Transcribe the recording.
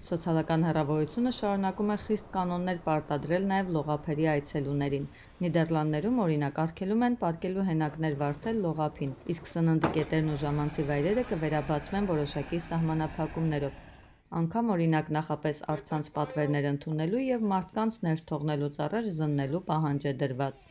Սոցիալական հեռավորությունը շարունակում է խիստ կանոններ պարտադրել նաև լողափերի այցելուներին։ Նիդերլանդներում օրինակ արգելում են պարկելու հենակներ վարձել լողափին, իսկ սննդի կետերն ու ժամանցի վայրերը կվերաբացվեն որոշակի սահմանափակումներով։ Անգամ օրինակ նախապես առցանց պատվերներ ընդունելու և մարդկանց ներս թողնելուց առաջ զննելու պահանջ է դրված։